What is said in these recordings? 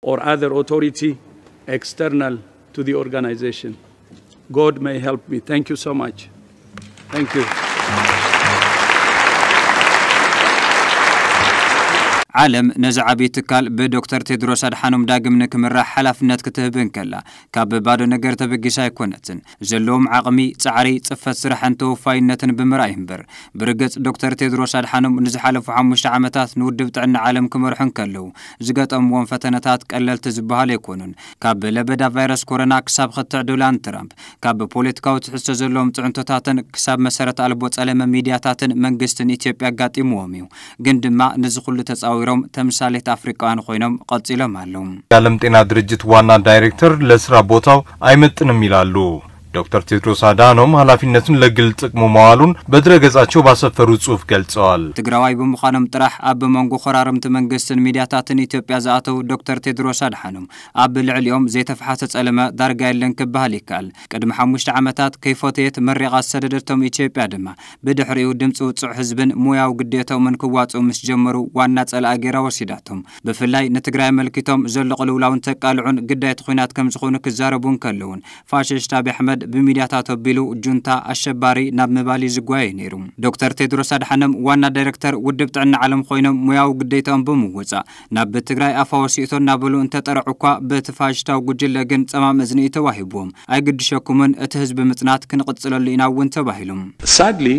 or other authority external to the organization. God may help me. Thank you so much. Thank you. ዓለም ነዚ ዓብዪ ትካል ብዶክተር ቴድሮስ ኣድሓኖም ዳግም ንክምራሕ ሓላፍነት ክትህብ እንከላ፣ ካብ ባዶ ነገር ተበጊሳ ኣይኮነትን። ዘለዎም ዓቕሚ፣ ጻዕሪ፣ ጽፈት ስራሕን ተወፋይነትን ብምርኣይ እምበር። ብርግጽ ዶክተር ቴድሮስ ኣድሓኖም ንዝሓለፉ ሓሙሽተ ዓመታት ንውድብ ጥዕና ዓለም ክመርሑ እንከለዉ ዝገጠምዎም ፈተነታት ቀለልቲ ዝበሃሉ ኣይኮኑን። ካብ ለበዳ ቫይረስ ኮሮና ክሳብ ክትዕ ዶናልድ ትራምፕ፣ ካብ ፖለቲካዊ ትሕዝቶ ዘለዎም ጽዕንቶታትን ክሳብ መሰረት ኣልቦ ጸለመ ሚድያታትን መንግስትን ኢትዮጵያ ኣጋጢምዎም እዩ። ግን ድማ ነዚ ኩሉ ተጻዊሮም ተምሳሌት ኣፍሪቃውያን ኮይኖም ቀጺሎም ኣለዉ። የዓለም ጤና ድርጅት ዋና ዳይሬክተር ለስራ ቦታው ኣይመጥንም ይላሉ። ዶክተር ቴድሮስ ኣድሓኖም ሓላፊነቱን ለግል ጥቅሙ መዋሉን በድረገጻቸው ባሰፈሩ ጽሑፍ ገልጸዋል። ትግራዋይ ብምዃኖም ጥራሕ ኣብ መንጎ ኮራርምቲ መንግስትን ሚድያታትን ኢትዮጵያ ዝኣተው ዶክተር ቴድሮስ ኣድሓኖም ኣብ ልዕሊኦም ዘይተፈሓሰ ጸለመ ዳርጋ የለን ክበሃል ይከኣል። ቅድሚ ሓሙሽተ ዓመታት ከይፈተየት መሪቓ ዝሰደደቶም ኢትዮጵያ ድማ ብድሕሪኡ ድምፂ ውፁዕ ህዝብን ሙያዊ ግዴታኦምን ክዋፅኡ ምስ ጀመሩ ዋና ፀላኢ ገይራ ወሲዳቶም። ብፍላይ ንትግራይ ኣመልኪቶም ዘሎ ቅልውላውን ተቃልዑን ግዳይት ኹናት ከም ዝኾኑ ክዛረቡ እንከለውን ፋሽስት ኣብይ ኣሕመድ ብሚድያታት ኣቢሉ ጁንታ ኣሸባሪ ናብ ምባል እዩ ዝጓየ ነይሩ። ዶክተር ቴድሮስ ኣድሓኖም ዋና ዳይሬክተር ውድብ ጥዕና ዓለም ኮይኖም ሙያዊ ግዴታኦም ብምውፃእ ናብ ትግራይ ኣፋ ወሲእቶ እናበሉ እንተጠርዑ እኳ በቲ ፋሽስታዊ ጉጅለ ግን ፀማም እዝኒ እዩ ተዋሂብዎም። ኣይግድሸኩምን፣ እቲ ህዝቢ ምፅናት ክንቕፅለሉ ኢና እውን ተባሂሉ። Sadly,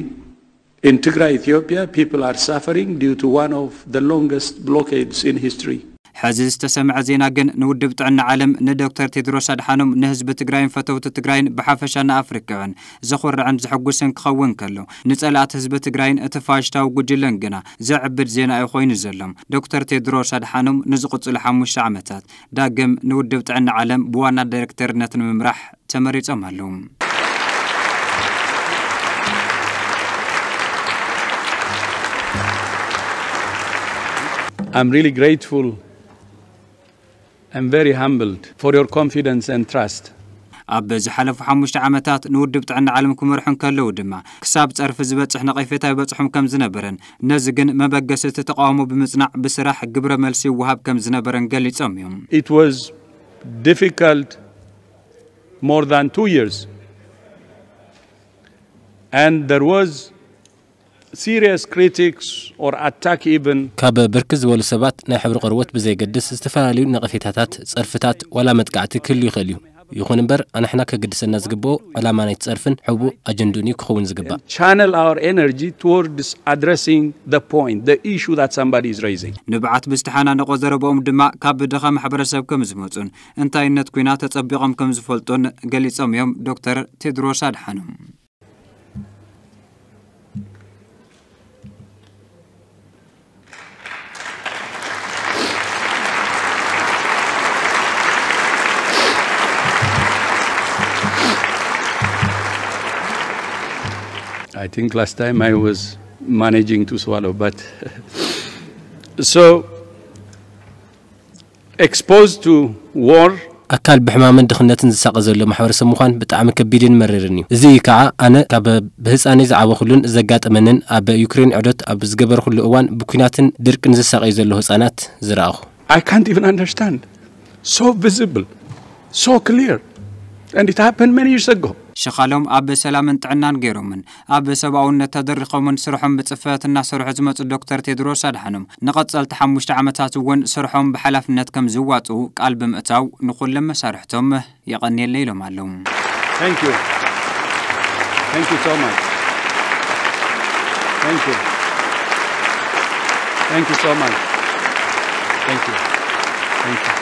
in Tigray, Ethiopia, people are suffering due to one of the longest blockades in history. ሕዚ ዝተሰምዐ ዜና ግን ንውድብ ጥዕና ዓለም ንዶክተር ቴድሮስ ኣድሓኖም ንህዝቢ ትግራይን ፈተውቲ ትግራይን ብሓፈሻ ንኣፍሪካውያን ዘኹርዕን ዘሐጉስን ክኸውን ከሎ ንጸላእቲ ህዝቢ ትግራይን እቲ ፋሽስታዊ ጉጅለን ግና ዘዕብድ ዜና እዩ ኮይኑ ዘሎ። ዶክተር ቴድሮስ ኣድሓኖም ንዝቕፅሉ ሓሙሽተ ዓመታት ዳግም ንውድብ ጥዕና ዓለም ብዋና ዳይሬክተርነት ንምምራሕ ተመሪጾም ኣለዉ። I'm really grateful and very humbled for your confidence and trust. ኣብ ዝሓለፉ ሓሙሽተ ዓመታት ንውድብ ጥዕና ዓለም ክመርሑ እንከለዉ ድማ ክሳብ ጸርፊ ዝበጽሕ ነቐፌታ ይበጽሖም ከም ዝነበረን ነዚ ግን መበገሲ እቲ ተቃውሞ ብምጽናዕ ብስራሕ ግብረ መልሲ ይወሃብ ከም ዝነበረን ገሊጾም እዮም። It was difficult more than two years and there was serious critics or attack even. ካብ ብርክት ዝበሉ ሰባት ናይ ሕብሪ ቆርበት ብዘይገድስ ዝተፈላለዩ ነቐፌታታት፣ ጸርፍታት ዋላ መጥቃዕቲ ክህሉ ይኽእል እዩ። ይኹን እምበር ኣንሕና ከገድሰና ዝግብኦ ዕላማ ናይቲ ጸርፍን ሕቡእ ኣጀንድኡን እዩ ክኸውን ዝግባእ። Channel our energy towards addressing the point, the issue that somebody is raising. ንብዓት ብዝተሓናነቖ ዘረባኦም ድማ ካብ ድኻ ማሕበረሰብ ከም ዝመጹን እንታይነት ኩናት ተጸቢቖም ከም ዝፈልጡን ገሊጾም እዮም ዶክተር ቴድሮስ ኣድሓኖም። I think last time I was managing to swallow, but so exposed to war. ኣካል ብሕማምን ድኽነትን ዝሳቐ ዘሎ ማሕበረሰብ ምዃን ብጣዕሚ ከቢድን መሪርን እዩ። እዚ እዩ ከዓ ኣነ ካብ ብህፃነይ ዝዓበኹሉን ዘጋጠመንን ኣብ ዩክሬን ዕዶት ኣብ ዝገበርኩሉ እዋን ብኲናትን ድርቅን ዝሳቐዩ ዘለዉ ህፃናት ዝረኣኹ። I can't even understand. So visible, so clear. And it happened many years ago. ሸኻሎም ኣብ ሰላምን ጥዕናን ገይሮምን ኣብ ሰብኣውነት ተደሪኾምን ስርሖም ብጽፈት እናሰርሑ ዝመጹ ዶክተር ቴድሮስ ኣድሓኖም ንቐጸልቲ ሓሙሽተ ዓመታት እውን ስርሖም ብሓላፍነት ከም ዝዋጽኡ ቃል ብምእታው ንኹሎም መሳርሕቶም የቐንየለይ ኢሎም ኣለዉ። Thank you. Thank you so much. Thank you. Thank you so much. Thank you. Thank you.